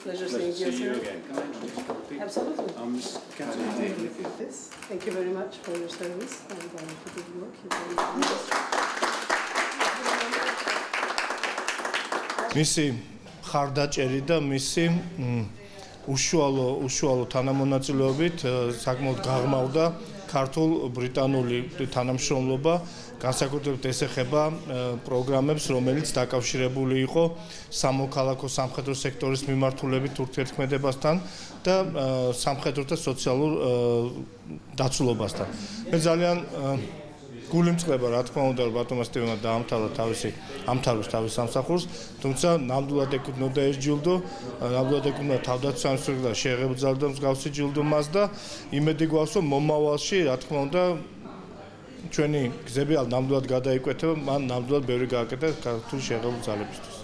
Pleasure seeing you again. Can I introduce you? Absolutely. Yes. Thank you very much for your service and for the work you're doing. მისი ხარდაჭერი და მისი უშუალო თანამონაწილეობით საკმაოდ გაღრმავდა ქართულ-ბრიტანული თანამშრომლობა, განსაკუთრებით ეს ეხება პროგრამებს, რომელიც დაკავშირებული იყო სამოქალაქო სამხედრო სექტორის მიმართულებით ურთიერთქმედებასთან და სამხედრო და სოციალურ დაცულობასთან. მე ძალიან გულიმწყება, რა თქმა უნდა, ბატონმა სტივენმა დაამთავრა თავის სამსახურს, თუმცა ნამდვილად ეკუთვნოდა ეს ჯილდო, ნამდვილად ეკუთვნოდა თავდაცვის სამინისტროს და შეღებძალდა მსგავსი ჯილდო მას და იმედი გვაქვს, რომ მომავალში, რა თქმა უნდა, ჩვენი გზები ნამდვილად გადაიკვეთება, მან ნამდვილად ბევრი გააკეთა ქართული შეღებძალებისთვის.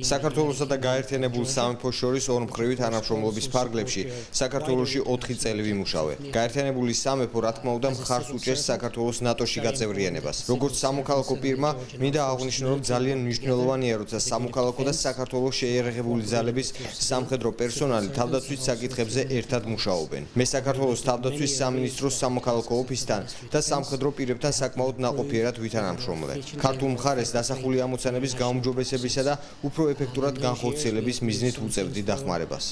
საქართველოსა და გაერთიანებულ სამეფოს შორის ორმხრივი თანამშრომლობის ფარგლებში საქართველოში 4 წელი ვიმუშავე. გაერთიანებული სამეფო, რა თქმა უნდა, მხარს უჭერს საქართველოს ნატოში გაწევრიანებას. როგორც სამოქალაქო პირმა, მინდა აღვნიშნო, რომ ძალიან მნიშვნელოვანია, როცა სამოქალაქო და საქართველოს შეიარაღებული ძალების სამხედრო პერსონალი თავდაცვის საკითხებზე ერთად მუშაობენ. მე საქართველოს თავდაცვის სამინისტროს სამოქალაქო ოფისთან და სამხედრო პირებთან საკმაოდ ნაყოფიერად ვითანამშრომლე. ქართულ მხარეს დასახული ამოცანების გაუმჯობესებისა და უფრო ეფექტურად განხორციელების მიზნით უწევდი დახმარებას.